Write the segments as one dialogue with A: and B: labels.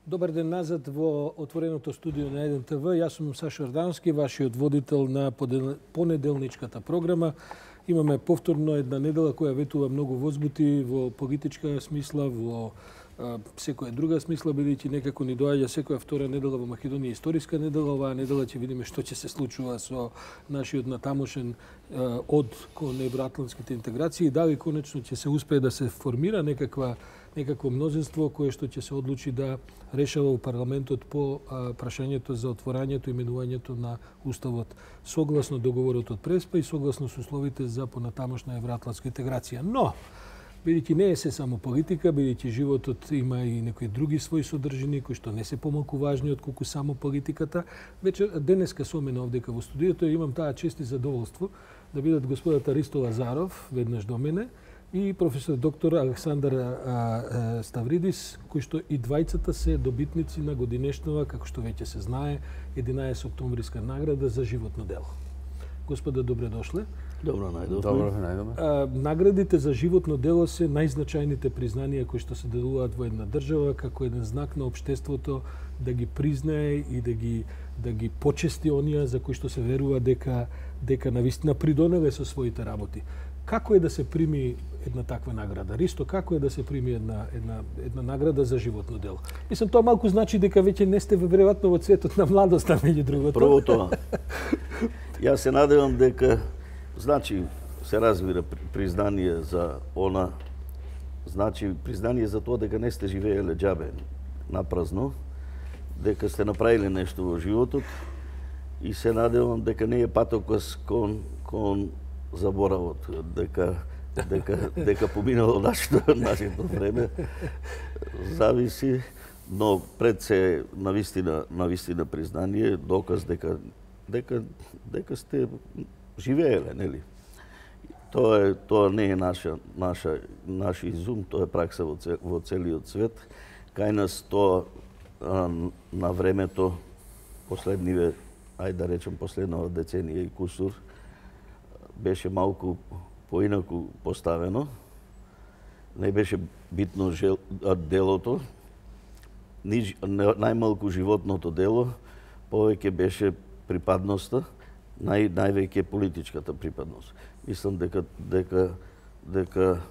A: Добар ден назад во отвореното студио на 1 ТВ. Јас сум Сашо Ордански, вашиот водител на понеделничката програма. Имаме повторно една недела која ветува многу возбути во политичка смисла, во секоја друга смисла, бидејќи некако ни доаѓа секоја втора недела во Македонија историска недела. Оваа недела ќе видиме што ќе се случува со нашиот натамошен од кон евроатлантските интеграции, дали конечно ќе се успее да се формира некакво мнозинство кое што ќе се одлучи да решава у парламентот по прашањето за отворањето и именувањето на уставот согласно договорот од Преспа и согласно со условите за понатамошна евроатлантска интеграција. Но бидејќи не е се само политика, бидејќи животот има и некои други своји содржини кои што не се помалку важни отколку само политиката, денеска со мене овдека во студиото имам таа чест и задоволство да бидат господата Ристо Лазаров веднаш до мене и професор доктор Александар Ставридис, кои што и двајцата се добитници на годинешнава, како што веќе се знае, 11 октомвриска награда за животно дело. Господа, добре дошле.
B: Добро најдовме.
A: Наградите за животно дело се најзначајните признанија кои што се делуваат во една држава како еден знак на општеството да ги признае и да ги почести оние за кои што се верува дека навистина придонеле со своите работи. Како е да се прими една таква награда? Ристо, како е да се прими една награда за животно дело? Мислам, тоа малку значи дека веќе не сте веројатно во цветот на младоста, меѓу другото.
B: Прво тоа. Јас се надевам дека, значи, се разбира признание за она, значи признание за тоа дека не сте живееле џабе напразно, дека сте направиле нешто во животот и се надевам дека не е патокос кон заборавот, дека поминало нашето време, зависи, но пред се навистина признание, доказ дека сте живееле, нели? Тоа не е наш изум, тоа е пракса во целиот свет. Кај нас тоа на времето, последниве, ајде да речем последнава деценија и кусур, беше малку поинаку поставено. Не беше битно делото, најмалку животното дело, повеќе беше припадноста, највеќе политичката припадност. Мислам дека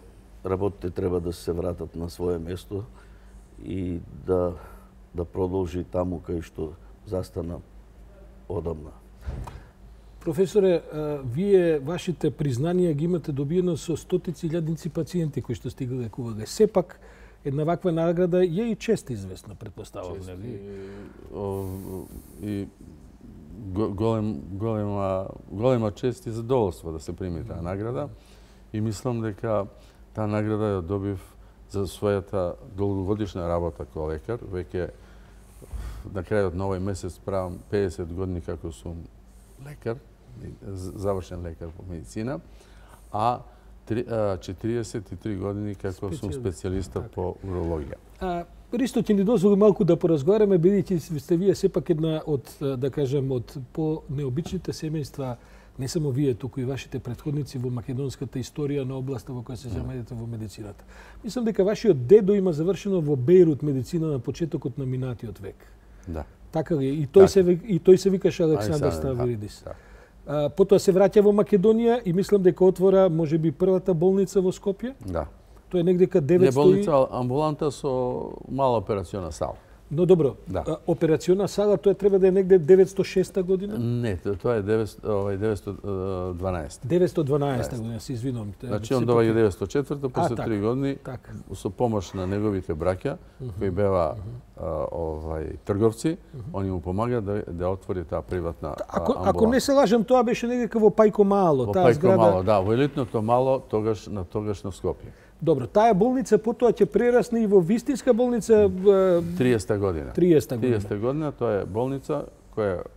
B: работите треба да се вратат на свое место и да продолжи таму кај што застана одамна.
A: Професоре, вие вашите признанија ги имате добиено со стотици илјадници пациенти кои што стига лекувале. Сепак една ваква награда е и чест известна, претпоставам, нели?
C: И голема чест и задоволство да се прими таа награда. И мислам дека таа награда ја добив за својата долгогодишна работа како лекар. Веќе на крајот на овој месец правам 50 години како сум лекар, завршен лекар по медицина, а 43 години како сум специјалиста по урологија.
A: Ристо, ќе ни дозволи малку да поразговараме, бидејќи сте вие сепак една од, да кажем, од по-необичните семејства, не само вие, туку и вашите претходници во македонската историја на областа во која се заемате во медицината. Мислам дека вашиот дедо има завршено во Бејрут медицина на почетокот на минатиот век.
C: Да.
A: Така ли? И тој се викаше Александар Ставридис. Потоа се враќа во Македонија и мислам дека отвора можеби првата болница во Скопје.
C: Да.
A: Тоа е негдека 900...
C: Не болница, амбуланта со мала операциона сала.
A: Но добро,
C: да.
A: Операциона сала тоа треба да е негде 906 година?
C: Не, тоа е 912.
A: 912 година, се извинувам.
C: Значи он доаѓа 904, после 3 години со помош на неговите браќа кои беа трговци, они му помагаат да отвори таа приватна амбуланта.
A: Ако не се лажам, тоа беше негде во Пајко Мало,
C: таа зграда. Во Пајко Мало, да, во елитното Мало, тогаш на Скопје.
A: Добро, таа болница потоа ќе прерасне и во вистинска болница
C: 30-та година. 30-та година, тоа е болница која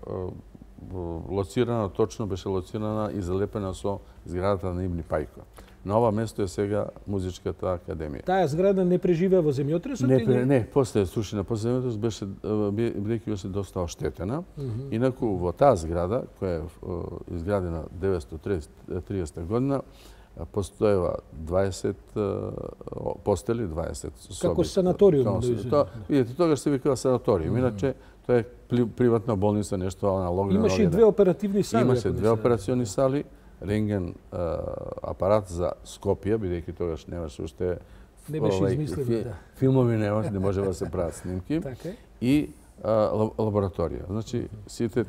C: лоцирана, точно беше лоцирана и залепена со зградата на Ибни Пајко. На ова место е сега Музичката академија.
A: Таа зграда не преживеа во земјотресот?
C: Не, после срушена, после земјотресот беше бидејќи беше доста оштетена. Инаку во таа зграда која е изградена 930 година постоева 20 постели, 20 соби.
A: Како санаториум.
C: Видите, тогаш се викава санаториум. Иначе тоа е приватна болница, нешто аналогно.
A: Имаше и две оперативни сали.
C: Имаше две операциони сали, рентген апарат за Скопје, бидејќи тогаш немаше уште филмови, не може да се прават снимки. И лабораторија. Значи, сите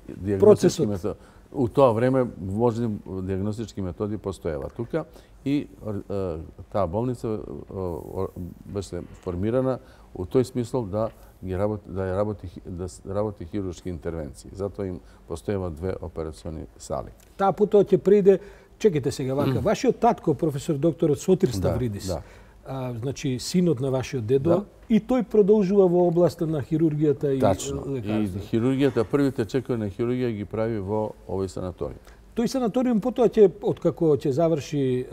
C: диагностички методи, у тоа време можни диагностички методи постоева тука и таа болница беше формирана у тој смисол да работи хируршки интервенции. Затоа им постоева две операциони сали.
A: Таа потоа ќе приде, чекайте сега вака, вашиот татко, професор доктор Сотир Ставридис, значи синот на вашиот дедо, и тој продолжува во областа на хирургијата и лекарство.
C: И хирургијата, првите чекови на хирургија ги прави во овој санаториум.
A: Тој санаториум потоа ќе, откако ќе заврши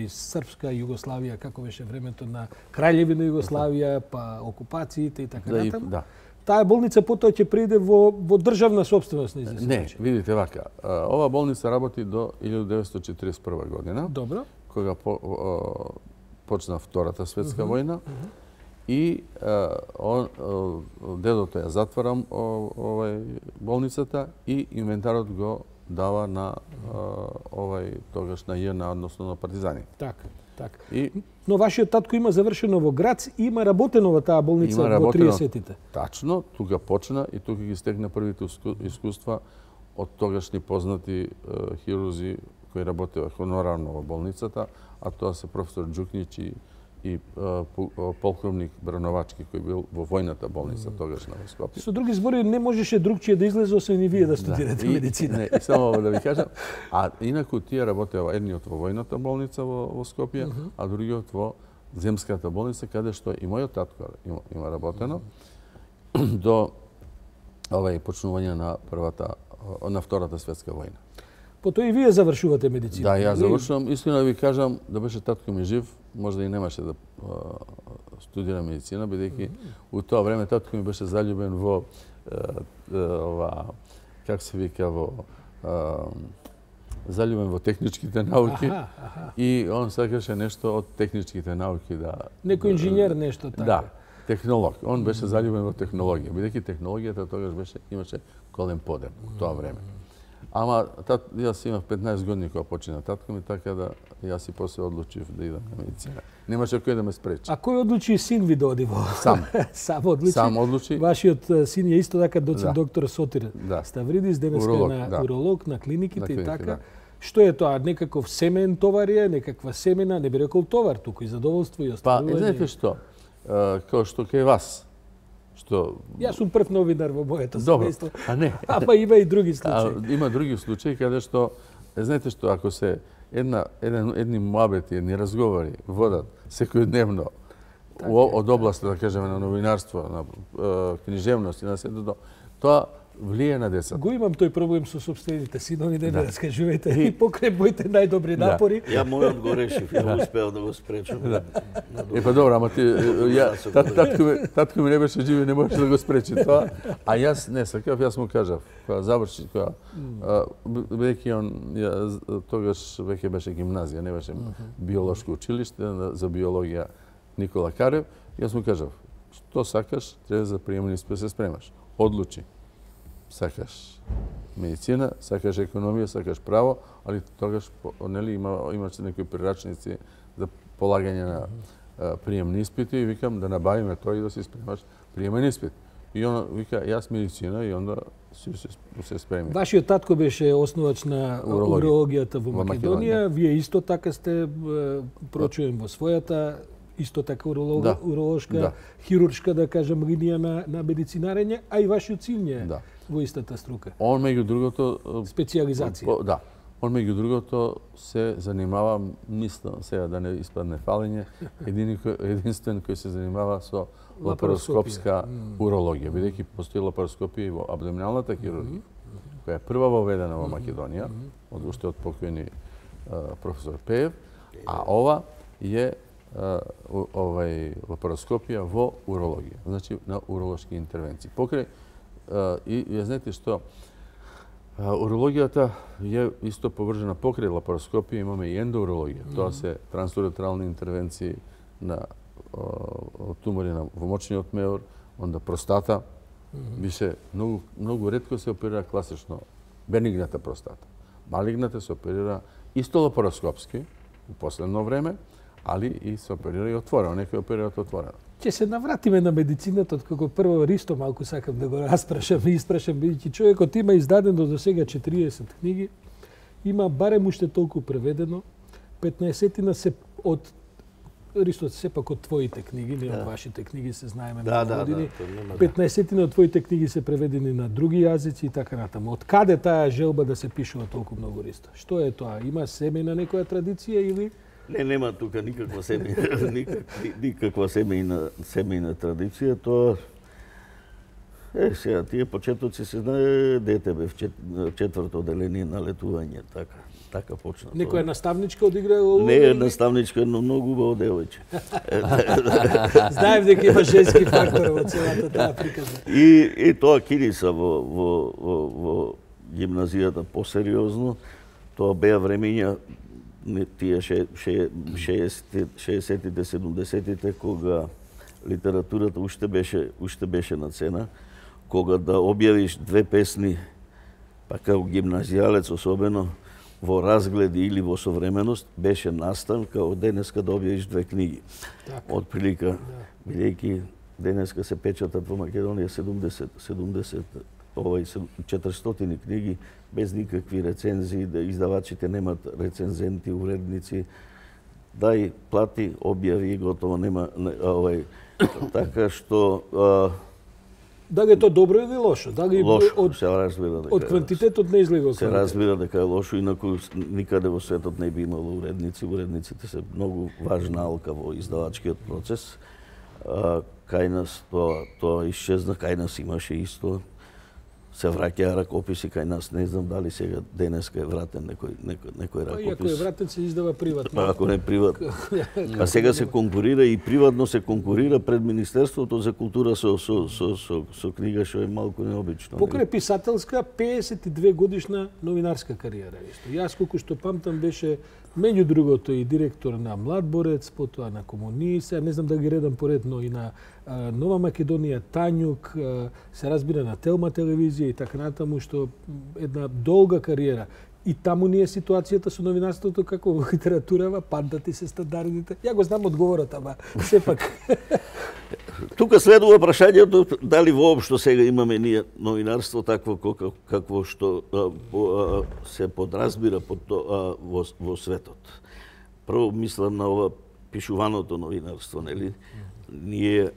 A: Српска Југославија, како беше времето на Краљевина Југославија, па окупациите и така натаму. Таа болница потоа ќе приде во државна сопственост на известен
C: начин. Не, видите вака, ова болница работи до 1941 година.
A: Добро.
C: Кога почна Втората светска војна и дедото ја затвара болницата и инвентарот го дава на тогаш на ЈНА, односно на партизани.
A: Така. Но вашиот татко има завршено во Грац и има работено во таа болница во 30-тите.
C: Тачно, тука почна и тука ги стегна првите искуства од тогашни познати хирурзи кои работеа хонорарно во болницата, а тоа се професор Џукнич и полковник Брановачки, кој бил во војната болница тогаш на Скопје.
A: Со други збори, не можеше другчие да излезе освен и вие да студирате медицина.
C: И само да ви кажам, а инаку тие работеа едниот во војната болница во Скопје, а другиот во земската болница, каде што и мојот татко има работено до почнување на Втората светска војна.
A: Потоа и вие завршувате медицина.
C: Да, ја завршувам. Искрено да ви кажам, да беше татко ми жив, можда и немаше да студира медицина, бидејќи у тоа време татко ми беше заљубен во как се вика, заљубен во техничките науки и он сакаше нешто од техничките науки да...
A: Некој инженер нешто така.
C: Да, технолог. Он беше заљубен во технологија, бидејќи технологијата тогаш имаше голем подем у тоа време. Ама јас имав 15 години кога почина татко ми, така да јас и после одлучив да идам на медицина. Немаше кој да ме спречи.
A: А кој одлучи син ви да оди во?
C: Сам.
A: Сам одлучи. Вашиот син е исто така доцент доктор Сотир Ставридис, денеска на уролог на клиниките и така. Што е тоа? Некаков семен товар е, некаква семена, не би рекол товар, туку и задоволство и оставување.
C: Па, знаете што? Као што кај вас,
A: Јас сум прв новинар во моето
C: семејство. А не.
A: Ама има и други случаи.
C: Има други случаи каде што, знаете што, ако се едни муабети, едни разговори водат секојдневно од областа, да кажеме, на новинарство, на книжевност и на сето тоа влие на децата.
A: Го имам тој проблем со собствените синови, не раскажувате и покрај моите најдобри напори.
B: Ја мојот го решив, ја успеав да го спречам.
C: Па добро, ама татко ми не беше живи, не можеше да го спречи тоа, а јас не сакав, јас му кажав, кога заврши, бидејќи он тогаш веќе беше гимназија, не беше биолошко училиште за биологија Никола Карев, јас му кажав, што сакаш, треба за приемни испит се спремаш. Одлучи. Сакаш медицина, сакаш економија, сакаш право, али тогаш имаше некои прирачници за полагање на приемни испити и викам да набавиме тоа и да се спремаш приемен испит. И он вика, јас медицина и онда се спреми.
A: Вашиот татко беше основач на урологијата во Македонија, вие исто така сте прочуем во својата исто така уролошка, хируршка, да кажем, линија на медицинарење, а и вашиот син е во истата струка.
C: Он меѓу другото...
A: Специализација.
C: Да. Он меѓу другото се занимава, мислам сега да не испадне фалење, единствен кој се занимава со лапароскопска урологија, бидејќи постои лапароскопија и во абдоминалната хирургија, која е прва воведена во Македонија, уште од покојни професор Пеев, а ова е лапароскопија во урологија, значи на уролошки интервенции. Покрај и ја знаете што Урологијата е исто поврзана покрај лапароскопија, имаме и ендоурологија. Тоа се трансуретрални интервенции на тумори во мочниот меор, онда простата. Више многу ретко се оперира класично бенигната простата. Малигната се оперира исто лапароскопски у последно време, али и се оперира и отворено. Некои оперираат отворено.
A: Ќе се навратиме на медицината, откако прво Ристо малку сакам да го испрашам, бидејќи човекот има издадено до сега 40 книги, има барем уште толку преведено, 15-тина се од Ристо сепак од твоите книги, не од вашите книги, се знаеме многу години. 15-тина од твоите книги се преведени на други јазици и така натаму. Од каде таа желба да се пишува толку многу, Ристо? Што е тоа? Има семејна некоја традиција или?
B: Не, нема тука никаква семејна традиција. Тоа сега тие почетоци се знае, дете бев четврто одделение на летување, така почна.
A: Некоја наставничка одиграла?
B: Не наставничка, но многу убаво девојче.
A: Знаев дека има женски фактор во целата таа приказна.
B: И тоа кириса во гимназијата посериозно. Тоа беа времења тие 60-тите, 70-тите, кога литературата уште беше на цена, кога да објавиш две песни, па као гимназијалец особено, во разгледи или во современост, беше настан као денеска да објавиш две книги. Од прилика, бидејќи денеска се печатат во Македонија 400 книги, без никакви рецензии, да издавачите немат рецензенти, уредници, дај, плати, објави и готово, нема така што
A: Дали е тоа добро или лошо? Дали
B: лошо, се разбира дека
A: од квантитетот не излега
B: се разбира дека е лошо, инаку никаде во светот не би имало уредници. Уредниците се многу важна алка во издавачкиот процес. Кај нас тоа исчезна, кај нас имаше исто. Се враќаа ракописи кај нас, не знам дали сега денеска е вратен некој ракопис.
A: Иако е вратен, се издава приватно.
B: Ако не приватно. А сега се конкурира и приватно се конкурира пред Министерството за култура со книга, што е малку необично.
A: Покрај писателска, 52 годишна новинарска кариера исто. Јас колку што памтам беше меѓу другото и директор на Млад борец, потоа на Комунист, не знам да ги редам поредно и на Нова Македонија, Тањук, се разбира на Телма телевизија и така натаму, што една долга кариера. И таму ни е ситуацијата со новинарството како во литературава, паднати се стандардите. Ја го знам одговорот, ама сепак.
B: Тука следува прашањето дали воопшто сега имаме ние новинарство такво какво што се подразбира под во светот. Прво мислам на ова пишуваното новинарство, нели? Ние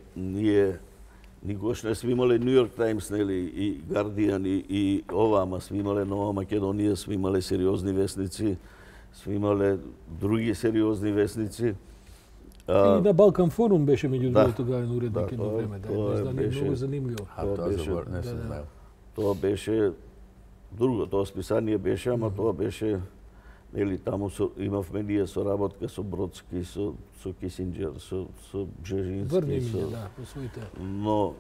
B: никогаш не сме имале Нью Йорк Таймс, нели, и Гардијан и ова, ама сме имале Нова Македонија, сме имале сериозни весници, сме имале други сериозни весници.
A: И на Балкан форум беше меѓу другото главен уредник едно време, издание многу занимљиво.
B: Тоа беше друго, тоа списание беше, ама тоа беше, нели, таму имавме ние соработка со Бродски, со Кисинџер, со Бжежински, но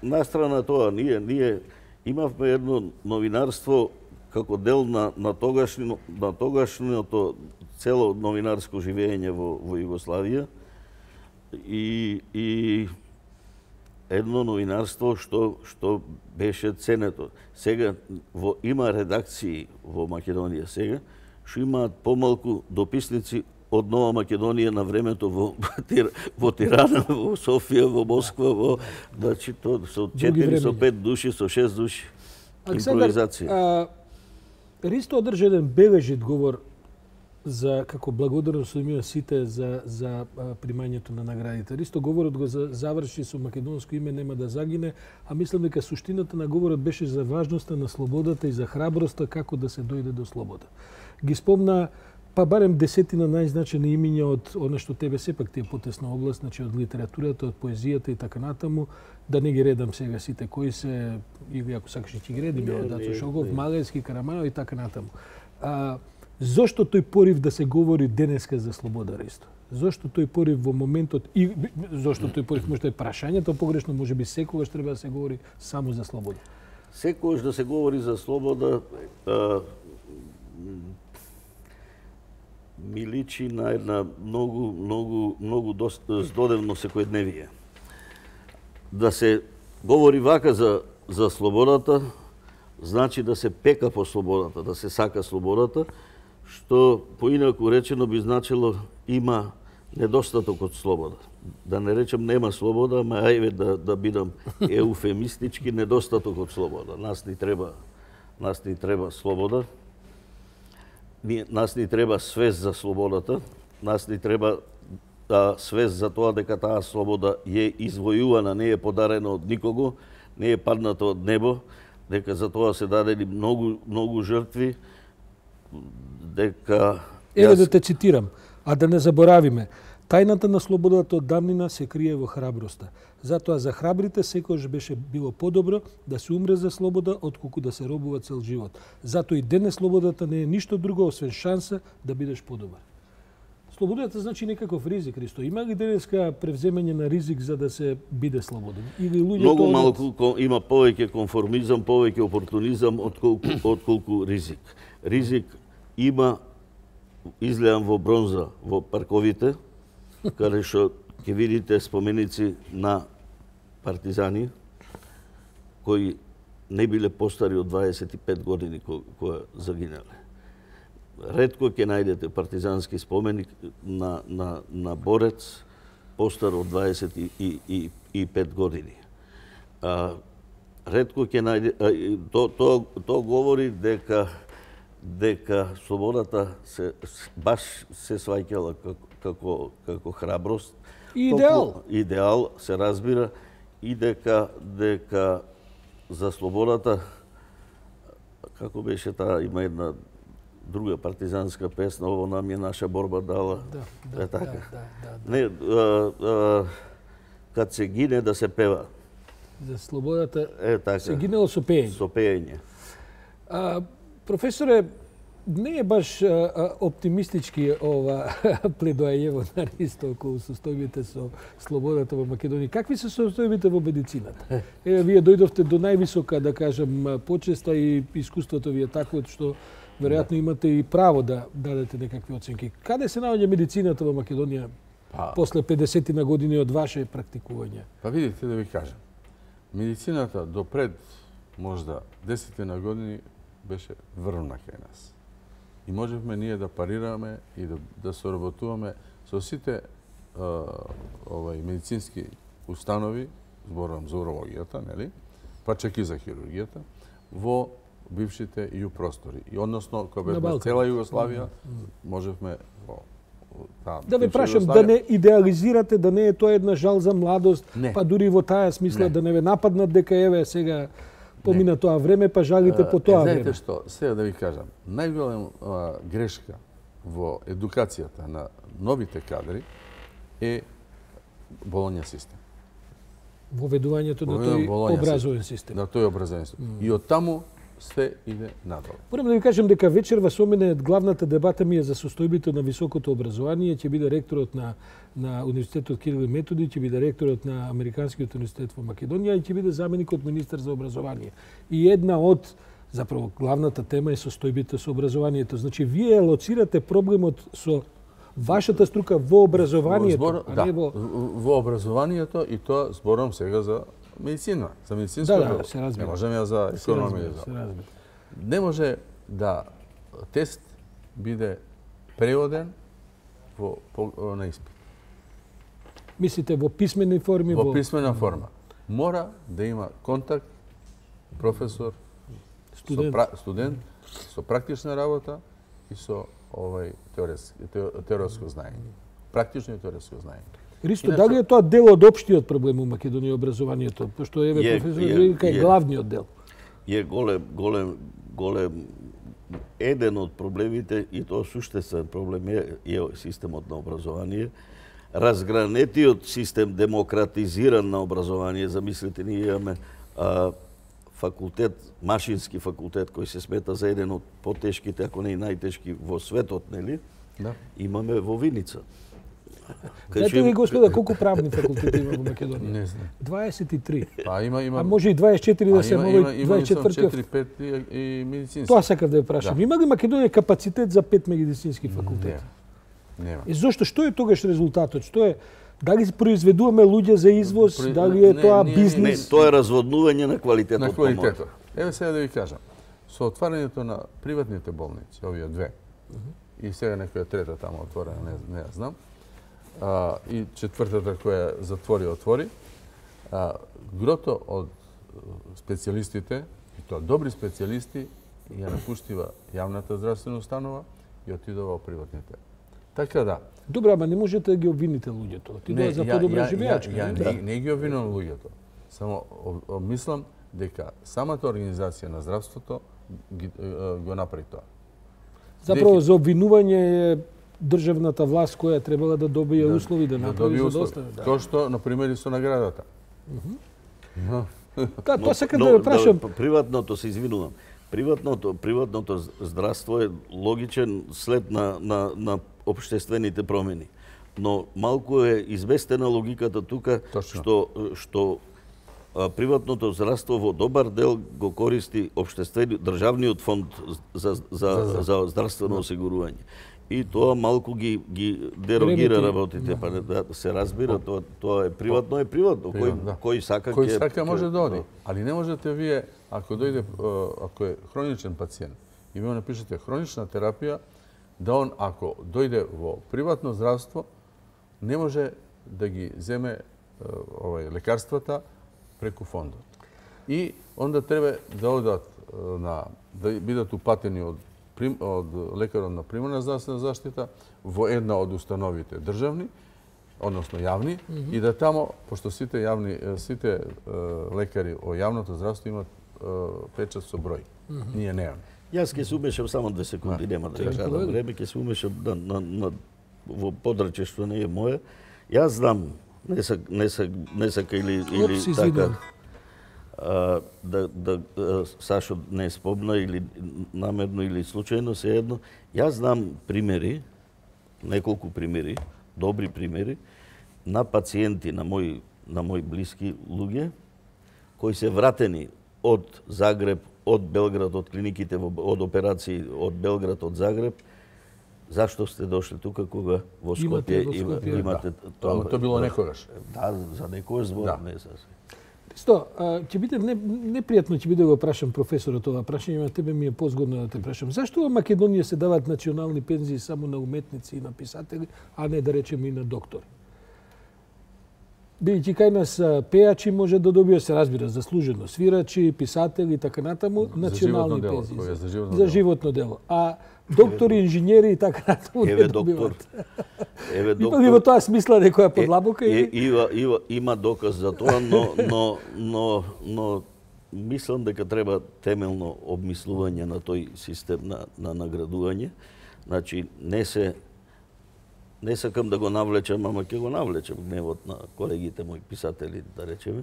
B: настрана тоа, ние имавме едно новинарство како дел на тогашното цело новинарско живење во Југославија и едно новинарство што беше ценето. Сега има редакции во Македонија сега што имаат помалку дописници од Нова Македонија на времето во Тирана, во Софија, во Москва, значи тоа со 4, со 5 души, со 6 души. Импровизација.
A: Ристо одржа еден бележит говор за како благодарност од сите за примањето на наградите. Ристо говорот го заврши со македонско име нема да загине, а мислам дека суштината на говорот беше за важноста на слободата и за храброста како да се дојде до слобода. Ги спомна па барем 10 најзначајни имиња од она што тебе сепак ти е потесна област, значи од литературата, од поезијата и така натаму, да не ги редам сега сите кои се, или ако сакаш ќе ги редим, од Дацо Шогов, Малевски, Караманов и така натаму. Зошто тој порив да се говори денеска за слобода, Ристо? Зошто тој порив во моментот и зошто тој порив можда е прашањето погрешно, можеби секогаш треба да се говори само за слобода?
B: секогаш да се говори за слобода, ми личи на една многу здодевно секојдневие. Да се говори вака за слободата, значи да се пека по слободата, да се сака слободата, што поинаку речено би значило има недостаток од слобода. Да не речем нема слобода, ама ајде да бидам еуфемистички, недостаток од слобода. Нас ни треба слобода. Нас ни треба свест за слободата. Нас ни треба свест за тоа дека таа слобода е извојувана, не е подарена од никого, не е падната од небо, дека за тоа се дадени многу жртви, дека...
A: Еве да те цитирам, а да не заборавиме. Тајната на слободата од давнина се крие во храброста. Затоа за храбрите секогаш беше било подобро да се умре за слобода, отколку да се робува цел живот. Затоа и денес слободата не е ништо друго освен шанса да бидеш подобар. Слободата значи некаков ризик, Христо. Има ли денеска превземање на ризик за да се биде слободен? Или луѓето
B: многу малку има повеќе конформизам, повеќе опортунизам отколку ризик. Ризик има изгледан во бронза во парковите, каде што ќе видите споменици на партизани кои не биле постари од 25 години кои загинале. Ретко ќе најдете партизански споменик на борец постар од 25 години. Ретко ќе најде тоа говори дека слободата баш се сваќала како храброст, идеал се разбира, и дека за слободата, како беше таа, има една друга партизанска песна, ово нам е наша борба дала. Не, кад се гине да се пева.
A: За слободата
B: така,
A: се гинело со пеење.
B: Со пеење.
A: Професоре, не е баш оптимистички ова пледоајево на Ристо околу состојбите со слободата во Македонија. Какви се состојбите во медицината? Вие дојдовте до највисока, да кажем, почеста и искуството ви е такво што веројатно имате и право да дадете некакви оценки. Каде се наоѓа медицината во Македонија после 50 на години од ваше практикување?
C: Па видите, да ви кажам. Медицината допред можда 10 на години беше врвна кај нас. И можевме ние да парираме и да соработуваме со сите медицински установи, зборувам за урологијата, нели? Па чак и за хирургијата, во бившите ИУ простори. И односно, кога бе цела Југославија, можевме во
A: да ве прашам, да не идеализирате, да не е тоа една жал за младост, па дури во таа смисла да не ве нападнат дека еве сега помина тоа време, па жалите по тоа време.
C: Знаете што, сега да ви кажам, најголема грешка во едукацијата на новите кадри е Болонја систем.
A: Воведувањето на тој образовен систем.
C: На тој образовен систем. И од таму се иде надолу.
A: Морам да ви кажам дека вечерва со мене главната дебата ми е за состојбите на високото образование. Ќе биде ректорот на Универзитетот Кирил и Методи, ќе биде ректорот на Американскиот универзитет во Македонија и ќе биде заменикот министер за образование. И една од, заправо, главната тема е состојбите со образованието. Значи, вие лоцирате проблемот со вашата струка во образованието, а не
C: во образованието, и тоа зборам сега за медицина, за медицинско дело.
A: Се разбира.
C: Не можем ја за економија. Не може да тест биде преводен на испит.
A: Мислите во писмени форми?
C: Во писмена форма. Мора да има контакт професор, студент со практична работа и со теоретско знаење. Практично и теоретско знаење.
A: Ристо, дали е тоа дел од општиот проблем у Македонија образованието? Пошто еве професор вика е главниот дел.
B: Е голем еден од проблемите, и тоа суштествен проблем е системот на образование. Разгранетиот систем, демократизиран на образование, замислите, ние имаме факултет, машински факултет, кој се смета за еден од потешките, ако не и најтешки во светот, нели?
C: Да.
B: Имаме во Виница.
A: Знаете ли, господа, колку правни факултети има во Македонија?
C: Не знам.
A: 23.
C: Па има
A: А може и 24 да се овој 24.
C: 4-5 и медицински.
A: Тоа сакав да ја прашам.
C: Да.
A: Има ли Македонија капацитет за 5 медицински факултети?
C: Нема.
A: И зошто? Што е тогаш резултатот? Што е? Дали произведуваме луѓе за извоз? Дали е тоа бизнис?
B: Не, тоа е разводнување на квалитетот.
C: На квалитетот. Еве сега да ви кажам. Со отварањето на приватните болници, овие две, и сега некоја трета таму отворена, не ја знам, и четвртата која отвори, грото од специјалистите, и тоа добри специјалисти, ја напуштива јавната здравствена установа и отидува во приватните. Така да.
A: Добро, ама не можете да ги обвините луѓето. Отидува за подобра живеачка.
C: Ја не ги обвинувам луѓето. Само мислам дека самата организација на здравството го направи тоа.
A: Заправо за обвинување е државната власт која требала да добие услови да направи за доста.
C: Тоа што на пример и со наградата.
A: Тоа сакам да ве прашам.
B: Приватното се извинувам. Приватното здравство е логичен след на општествените промени. Но малку е известена логиката тука што приватното здравство во добар дел го користи државниот фонд за здравствено осигурување. И тоа малку ги дерогира работите, па да се разбира, тоа е приватно, кој сака
C: може да оди, али не можете вие ако е хроничен пациент и вие напишете хронична терапија, да он ако дојде во приватно здравство не може да ги земе лекарствата преку фондот. И онда треба да одат да бидат упатени од лекарот на примарна здравствена заштита во една од установите државни, односно јавни, и да тамо, пошто сите лекари во јавното здравство имат печат со број. Ние немаме.
B: Јас ќе се умешам само 2 секунди, нема да кажам време, ќе се умешам во подрачје што не е моја. Јас знам, не сака или така, да Сашо не спомна или намерно или случајно, се едно. Јас знам примери, неколку примери, добри примери, на пациенти, на мои блиски луѓе, кои се вратени од Загреб, од Белград, од клиниките, од операции од Белград, од Загреб. Зашто сте дошли тука кога во Скопје имате
C: тоа? Тоа било некогаш.
B: Да, за некој збор, не за се.
A: Исто, ќе биде непријатно ќе биде да го прашам професорот ова прашање, на тебе ми е позгодно да те прашам. Зашто во Македонија се даваат национални пензии само на уметници и на писатели, а не да речеме и на доктори? Бидејќи кај нас пејачи може да добија, се разбира, заслужено, свирачи, писатели и така натаму, национални пензии за животно дело. А доктори, инженери и така натаму не добиваат. Има ли во тоа смисла некоја подлабока?
B: Има доказ за тоа, но мислам дека треба темелно обмислување на тој систем на наградување. Значи, не сакам да го навлечам, ама ќе го навлечам гневот на колегите мои писатели, да речеме.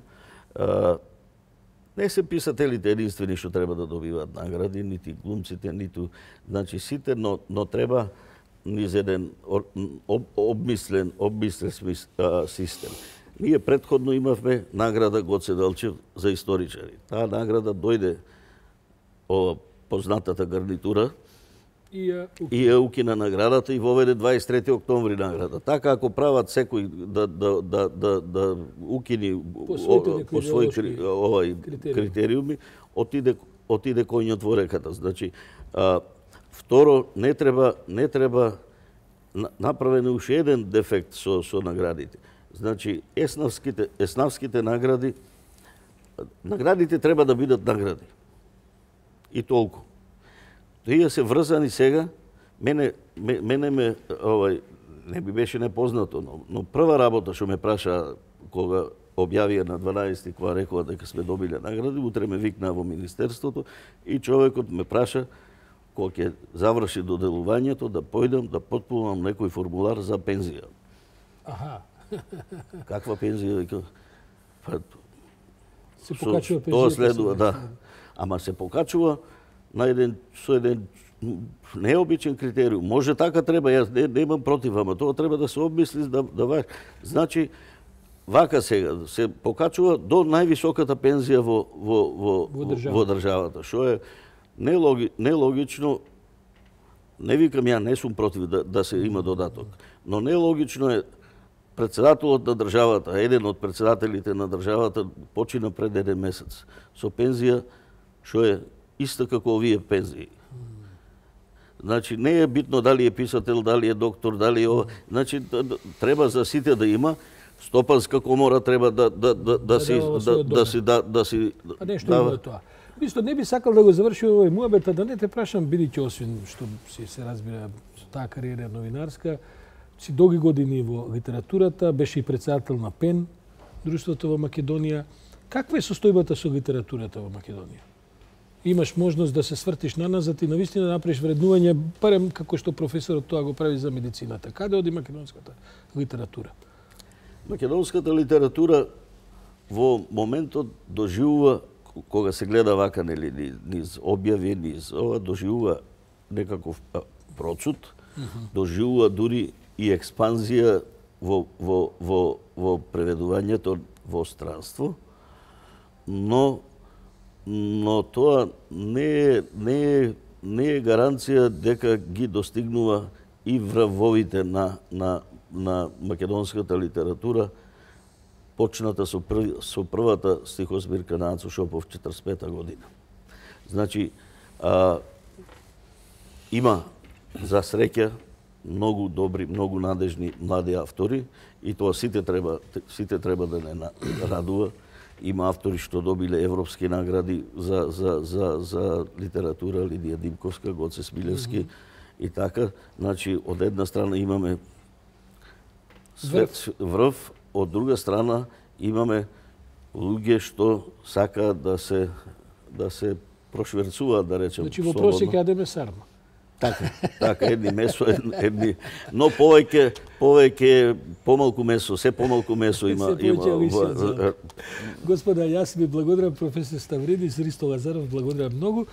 B: Не се писателите единствени што треба да добиваат награди, нити глумците, ниту, значи сите, но треба низ еден обмислен систем. Ние претходно имавме награда Гоце Делчев за историчари. Таа награда дојде ова познатата гарнитура и ја укина наградата и воведе 23 октомври награда. Така ако прават секој да укини по своји критериуми, отиде коњот во реката. Значи, второ, не треба направен уште еден дефект со наградите. Значи, еснавските наградите треба да бидат награди. И толку. Тие се врзани сега, мене не би беше непознато, но прва работа што ме праша кога објавија на 12 кога рекоа дека сме добиле награди, утре ме викнаа во министерството и човекот ме праша кога ќе заврши доделувањето да појдам да потпунам некој формулар за пензија.
A: Аха.
B: Каква пензија?
A: Се покачува пензија.
B: Тоа следува, да. Ама се покачува со еден необичен критериум. Може така треба, јас немам против, ама тоа треба да се обмисли значи вака сега се покачува до највисоката пензија во државата, што е нелогично. Не викам, ја не сум против да се има додаток, но нелогично е председателот на државата, еден од председателите на државата, почина пред еден месец со пензија што е иста како овие пензии. Значи, не е битно дали е писател, дали е доктор, дали е ова. Значи, треба за сите да има. Стопанска комора треба да си
A: Па нешто има тоа. Исто не би сакал да го заврши овој муабет, да не те прашам, бидејќи освен што се разбира со таа кариера новинарска, си долги години во литературата, беше и председател на ПЕН, друштвото во Македонија. Каква е состојбата со литературата во Македонија? Имаш можност да се свртиш наназад и навистина да направиш вреднување, барем како што професорот тоа го прави за медицината. Каде оди македонската литература?
B: Македонската литература во моментот доживува, кога се гледа вака, нели, низ објави, низ ова, доживува некаков процут, доживува дури и експанзија во преведувањето во странство, но тоа не е гаранција дека ги достигнува и врвовите на македонската литература, почната со првата стихозбирка на Ацо Шопов 45 година. Значи, има за среќа многу добри, многу надежни млади автори и тоа сите треба да не радува. Има автори што добиле европски награди за литература, Лидија Димковска, Гоце Смилевски и така. Значи, од една страна имаме врв, од друга страна имаме луѓе што сакаат да се прошверцуваат, да речем.
A: Значи, во просек јадеме сарма.
B: Така, едни месо, едни, но повеќе помалку месо, се помалку месо има.
A: Господа, јас ви благодарам, професор Ставридис, Ристо Лазаров, благодарам многу.